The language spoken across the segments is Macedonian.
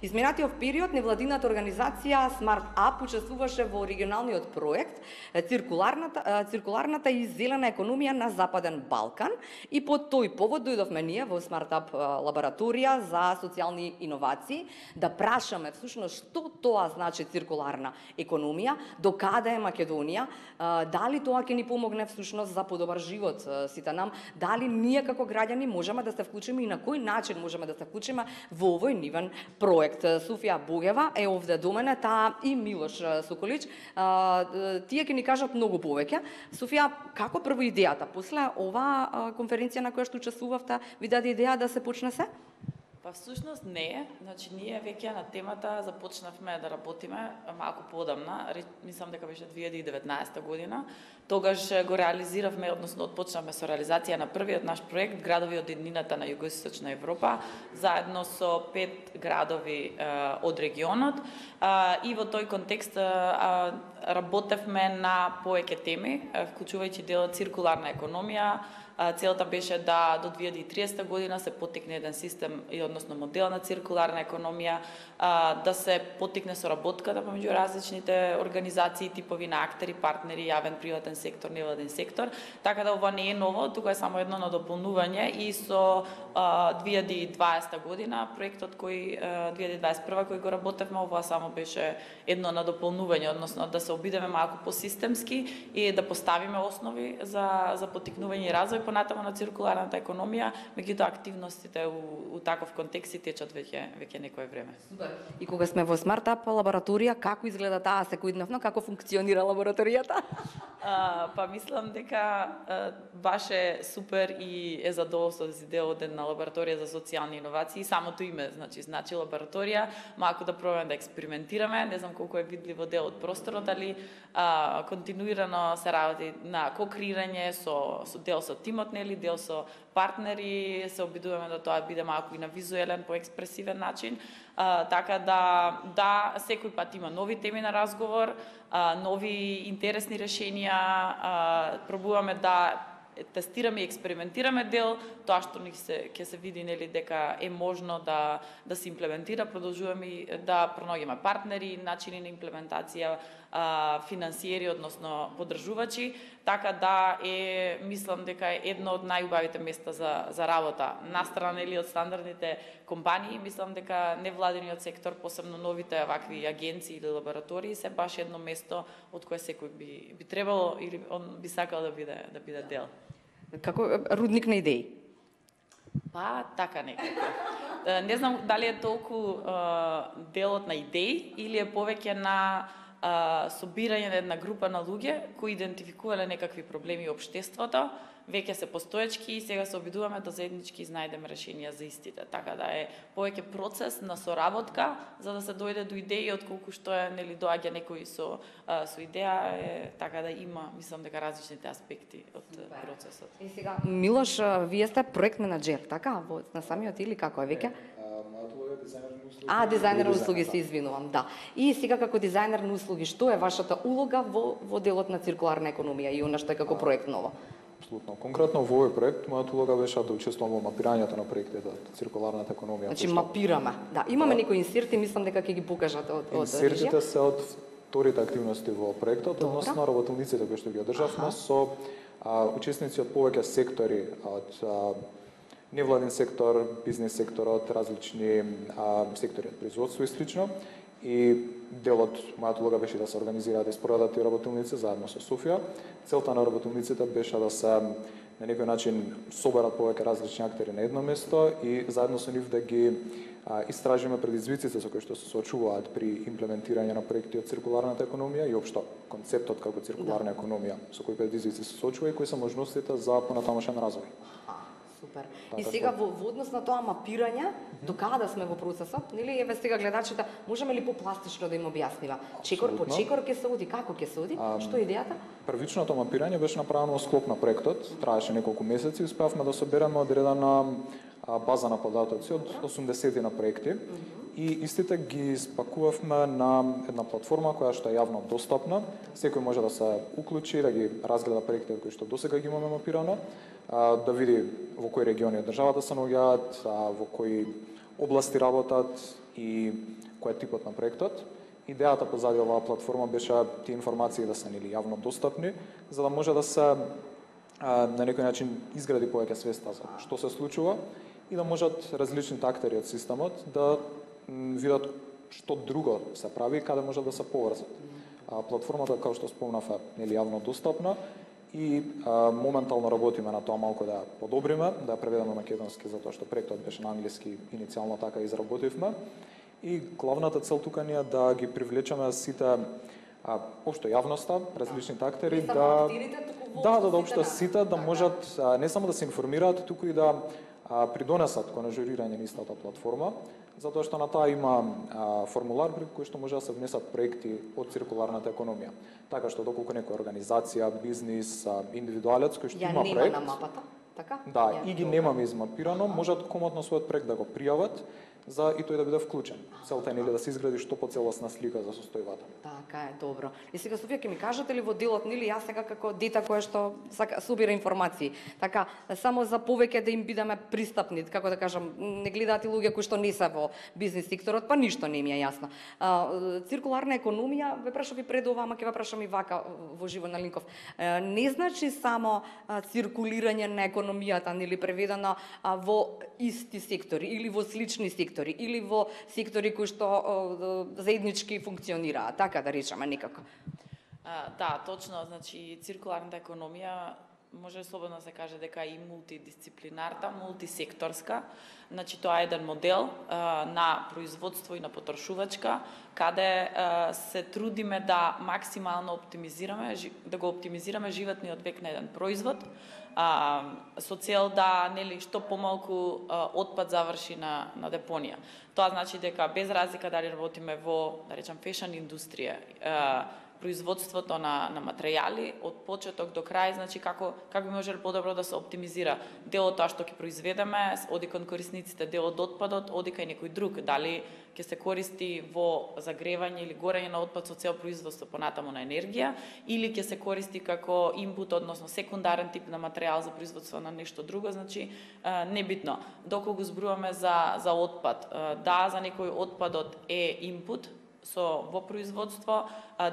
Изминатиот период невладината организација Smart Up учествуваше во регионалниот проект циркуларната и зелена економија на Западен Балкан и по тој повод дојдовме ние во Smart Up лабораторија за социјални иновации да прашаме всушност што тоа значи циркуларна економија, до каде е Македонија, дали тоа ќе ни помогне всушност за подобар живот сите нам, дали ние како граѓани можеме да се вклучиме и на кој начин можеме да се вклучиме во овој нивен проект. Софија Богева е овде до мене, таа и Милош Соколич. Тие ќе ни кажат многу повеќе. Софија, како прво идејата? После оваа конференција на која што учествувавте, ви даде идеја да се почне се? Па всушност не, значи ние веќе на темата започнавме да работиме малку поодамна, мислам дека беше 2019 година. Тогаш го реализиравме, односно отпочнавме со реализација на првиот наш проект Градови од еднината на југоисточна Европа, заедно со 5 градови од регионот. И во тој контекст работевме на повеќе теми, вклучувајќи делот циркуларна економија. Целта беше да до 2030 година се поттикне еден систем и односно модел на циркуларна економија, да се поттикне соработката помеѓу различните организации, типови на актери, партнери, јавен, приватен сектор, невладен сектор. Така да ова не е ново, тука е само едно надополнување и со 2020 година проектот кој 2021 кој го работевме, ова само беше едно надополнување, односно да се обидеме малку посистемски и да поставиме основи за поттикнување и развој понатаму на циркуларната економија, меѓутоа активностите у таков контекст течат веќе некое време. Супер. И кога сме во Smart Up лабораторија, како изгледа таа секојдневно, како функционира лабораторијата? Па мислам дека баш е супер и е задоволство да си дел од една лабораторија за социјални иновации. Самото име значи лабораторија, малку да пробаме да експериментираме, не знам колку е видливо дел од просторот, али континуирано се работи на кокреирање со дел со тимот, нели, дел со партнери, се обидуваме да тоа биде малку и на визуелен, поекспресивен начин, така да секој пат има нови теми на разговор, нови интересни решенија, пробуваме да тестираме и експериментираме дел, тоа што ќе се види, нели, дека е можно да се имплементира, продолжуваме да пронаѓаме партнери, начини на имплементација, финансиери, односно поддржувачи, така да мислам дека е едно од најубавите места за работа. Настрана, нели, од стандардните компании, мислам дека невладениот сектор, посебно новите вакви агенции или лаборатории, се баш едно место од кое секој би требало или он би сакал да биде дел. Како рудник на идеи? Па, така некако. Не знам дали е толку делот на идеи или е повеќе на собирање на една група на луѓе кои идентификувале некакви проблеми во општеството, веќе се постоечки и сега се обидуваме да заеднички изнајдеме решенија за истите. Така да е повеќе процес на соработка за да се дојде до идеи, отколку што е, нели, доаѓа некој со идеја, така да има, мислам дека различните аспекти од процесот. И сега, Милош, вие сте проект менаџер, така, на самиот или како е веќе? Дизајнер на услуги, се извинувам, да. И сега како дизајнер на услуги, што е вашата улога во делот на циркуларна економија и она што е како проект ново? Апсолутно. Конкретно во овој проект, мојата улога беше да учествувам во мапирањето на проектите циркуларната економија. Значи мапираме. Да, имаме некои инсерти, мислам дека ќе ги покажат од инсертите се од вторите активности во проектот, односно работилниците кои што ги одржавме со учесници од повеќе сектори, од невладен сектор, бизнес секторот, различни сектори од производство и слично. И делот, мојата улога беше да се организираат и спроведат и работилници заедно со Софија. Целта на работилниците беше да се на некој начин соберат повеќе различни актери на едно место и заедно со нив да ги истражиме предизвиците со кои што се соочуваат при имплементирање на проекти од циркуларната економија и општо концептот како циркуларна економија, со кои предизвици се соочува и кои се можностите за понатамошен развој. Супер. И сега во однос на тоа мапирање, до каде сме во процесот, нели, еве сега гледачите, можеме ли попластично да им објаснива? Чекор по чекор ќе се оди, како ќе се оди? Што е идејата? Првичното мапирање беше направено во склоп на проектот, траеше неколку месеци и успеавме да собереме одредена база на податоци од 80 на проекти и истите ги спакувавме на една платформа која што е јавно достапна. Секој може да се уклучи, да ги разгледа проектите кои што досега ги имаме мапирано, да види во кои региони од државата се наоѓаат, во кои области работат и кој е типот на проектот. Идејата позади оваа платформа беше тие информации да се јавно достапни, за да може да се на некој начин изгради повеќе свеста за што се случува и да можат различните актери од системот да видат што друго се прави и каде можат да се поврзат. Платформата, како што спомнав, е јавно достапна и моментално работиме на тоа малку да ја подобриме, да ја преведеме на македонски, затоа што проектот беше на англиски, иницијално така изработивме. И главната цел тука ни е да ги привлечеме сите општо јавноста, различните актери да општо сите да можат не само да се информираат, туку и да придонесат кон ажурирање на истата платформа, затоа што на таа има формулар при кој што може да се внесат проекти од циркуларната економија. Така што доколку некоја организација, бизнис, индивидуалец кој што има проект, на мапата, така? Да, и ги немаме измапирано, можат комотно својот проект да го пријават за и тој да биде вклучен. Целта е да се изгради што поцелосна слика за состојбата. Така е, добро. И сега Софија ќе ми кажете ли во делот нели јас сега како дете кое што сака собира информации, така само за повеќе да им бидеме пристапни, како да кажам, не гледаат и луѓе кои што не се во бизнис секторот, па ништо не им е јасно. Циркуларна економија, ве прашав и пред ова, ама ќе ве прашам и вака во живо на Линков. Не значи само циркулирање на економијата, нели преведено во исти сектори или во слични сектори или во сектори кои што заеднички функционираат, така да речеме некако. Да, точно, значи циркуларната економија може слободно се каже дека е и мултидисциплинарна, мултисекторска. Значи тоа е еден модел на производство и на потрошувачка, каде се трудиме да максимално оптимизираме, да го оптимизираме животниот век на еден производ, со цел да нели што помалку отпад заврши на депонија. Тоа значи дека без разлика дали работиме во, да речам, фешн индустрија, производството на материјали од почеток до крај, значи како би можело подобро да се оптимизира делот тоа што ќе произведеме, оди кон корисниците, делот отпадот оди кај некој друг, дали ќе се користи во загревање или горење на отпад со цел производство понатаму на енергија, или ќе се користи како инпут, односно секундарен тип на материјал за производство на нешто друго, значи небитно. Доколку го зборуваме за отпад, да, за некој отпадот е инпут во производство,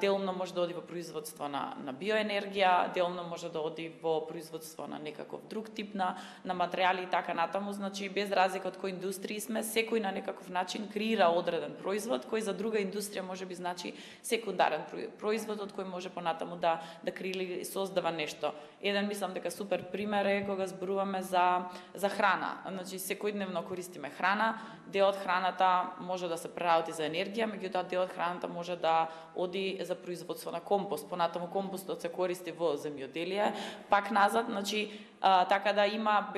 делумно може да оди во производство на биоенергија, делумно може да оди во производство на некаков друг тип на материјали и така натаму, значи без разлика од кој индустрии сме, секој на некаков начин креира одреден производ кој за друга индустрија можеби значи секундарен производ од кој може понатаму да креира и создава нешто. Еден мислам дека супер пример е кога зборуваме за храна. Значи секојдневно користиме храна, дел од храната може да се преработи за енергија, меѓутоа дел од храната може да оди за производство на компост. Понатаму компостот се користи во земјоделие, пак назад, значи така да има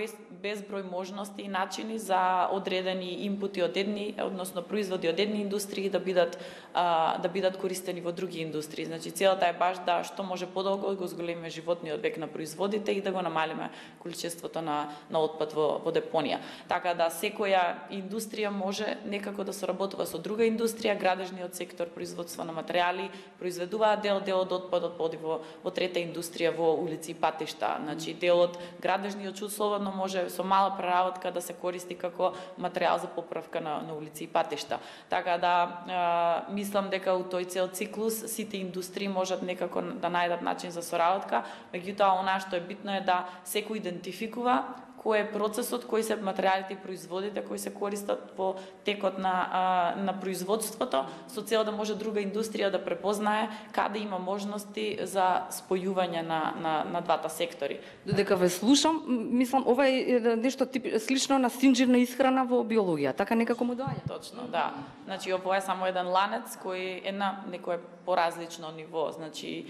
безброј можности и начини за одредени инпути од едни, односно производи од едни индустрии да бидат користени во други индустрии. Значи целата е баш да што може подолго го зголемиме животниот век на производите и да го намалиме количеството на отпад во депонија. Така да секоја индустрија може некако да соработува со друга индустрија, градежниот сектор, производство на материјали, произведуваат дел од отпадот поди во трета индустрија во улици и патишта. Значи делот градежниот чуд слободно може со мала преработка да се користи како материјал за поправка на улици и патишта. Така да мислам дека у тој цел циклус сите индустрии можат некако да најдат начин за соработка, меѓутоа она што е битно е да секој идентификува кој е процесот, кои се материјалите и производите кои се користат во текот на производството, со цел да може друга индустрија да препознае каде има можности за спојување на двата сектори. Додека ве слушам, мислам ова е нешто слично на синџирна исхрана во биологија, така некако му доаѓа. Точно, да. Значи ова е само еден ланец кој е на некое поразлично ниво, значи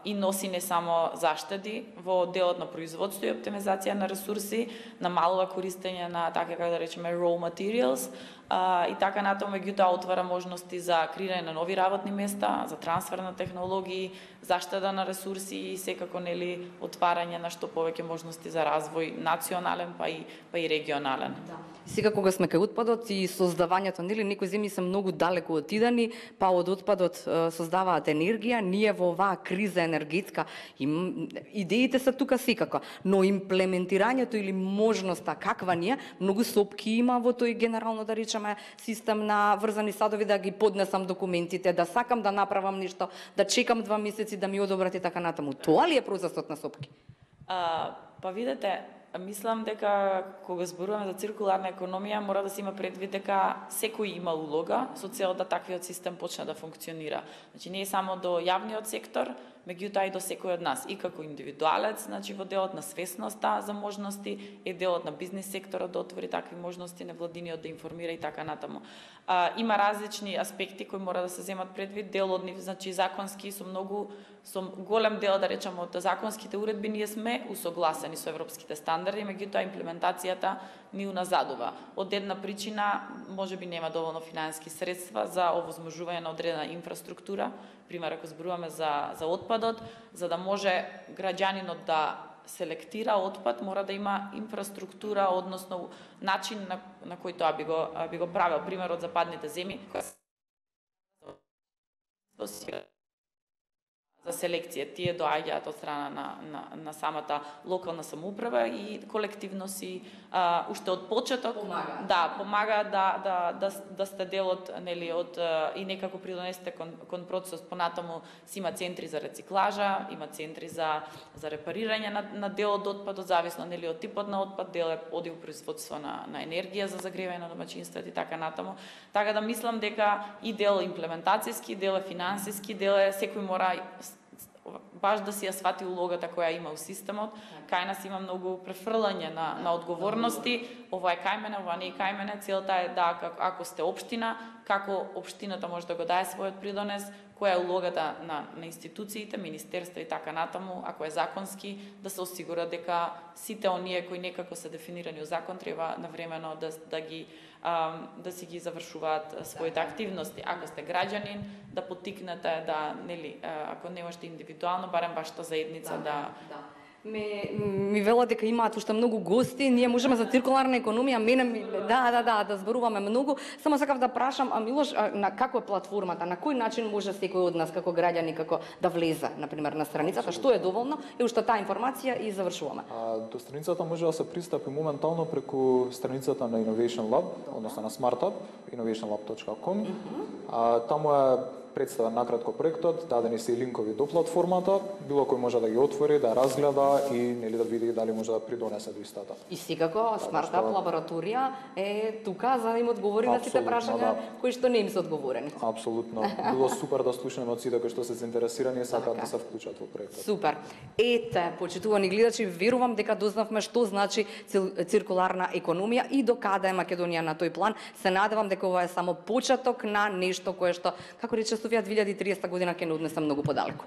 и носи не само заштеди во делот на производство и оптимизација на ресурси, намалува користење на така како да речеме raw materials и така натаму, меѓутоа отвара можности за креирање на нови работни места, за трансфер на технологии, заштеда на ресурси и секако нели отварање на што повеќе можности за развој национален па и регионален. Да. Сега кога сме кај отпадот и создавањето, нели некои земји се многу далеку отидени, па од отпадот создаваат енергија, ние во оваа криза енергетска идеите се тука секако, но имплементирањето или можноста каква ни е, многу сопки има во тој генерално да речеме прашаме систем на врзани садови да ги поднесам документите, да сакам да направам нешто, да чекам 2 месеци да ми одобрат и така натаму. Тоа ли е процесот на СОПКИ? Па видете, мислам дека кога зборуваме за циркуларна економија, мора да се има предвид дека секој има улога со цел да таквиот систем почне да функционира. Значи не е само до јавниот сектор, меѓутоа и до секој од нас, и како индивидуалец, значи во делот на свесноста за можности, е делот на бизнис секторот да отвори такви можности, невладиниот да информира и така натаму. Има различни аспекти кои мора да се земат предвид, дел од нив, значи законски со голем дел, да речеме, од законските уредби ние сме усогласени со европските стандарди, меѓутоа имплементацијата ни уназадува. Од една причина, можеби нема доволно финансиски средства за овозможување на одредена инфраструктура, пример ако зборуваме за отпадот, за да може граѓанинот да селектира отпад, мора да има инфраструктура, односно начин на кој тоа би го правил. Примерот за падните земји, за селекција, тие доаѓаат од страна на самата локална самоуправа и колективно си уште од почеток помага да сте дел од, нели, од и некако придонесете кон процесот. Понатаму си има центри за рециклажа, има центри за репарирање на дел од отпадот, зависно, нели, од типот на отпад, дел оди во производство на енергија за загревање на домаќинствата и така натаму. Така да мислам дека и дел имплементацијски, дел е финансиски, дел е секој мора баш да си ја свати улогата која има у системот. Кај нас има многу префрлање на одговорности. Ова е кај мене, ова не е кај мене. Целта е да, ако сте општина, како општината може да го даде својот придонес, која е улогата на институциите, министерства и така натаму, ако е законски, да се осигура дека сите оние кои некако се дефинирани во закон треба навремено да си ги завршуваат своите активности. Ако сте граѓанин, да поттикнете да, нели, ако не можете индивидуално, барем вашата заедница да Ми велат дека имаат уште многу гости, ние можеме за циркуларна економија, да зборуваме многу. Само сакав да прашам, Милош, на како е платформата, на кој начин може секој од нас како граѓани како да влезе, например, на страницата, што е доволно и уште таа информација и завршуваме. До страницата може да се пристапи моментално преку страницата на Innovation Lab, односно на SmartUp, innovationlab.com. Таму е представен накратко проектот, дадени се и линкови до платформата, било кој може да ги отвори, да разгледа и, нели, да види дали може да придонесе до истата. И секако SmartUp лабораторија е тука за да им одговори на сите прашања кои што не им се одговорени. Апсолутно. Било супер да слушнеме од сите кои што се заинтересирани и сакаат да се вклучат во проектот. Супер. Ете, почитувани гледачи, верувам дека дознавме што значи циркуларна економија и до каде е Македонија на тој план. Се надевам дека ова е само почеток на нешто кое што, како рече Софија, 2030 година ќе не однесе многу подалеку.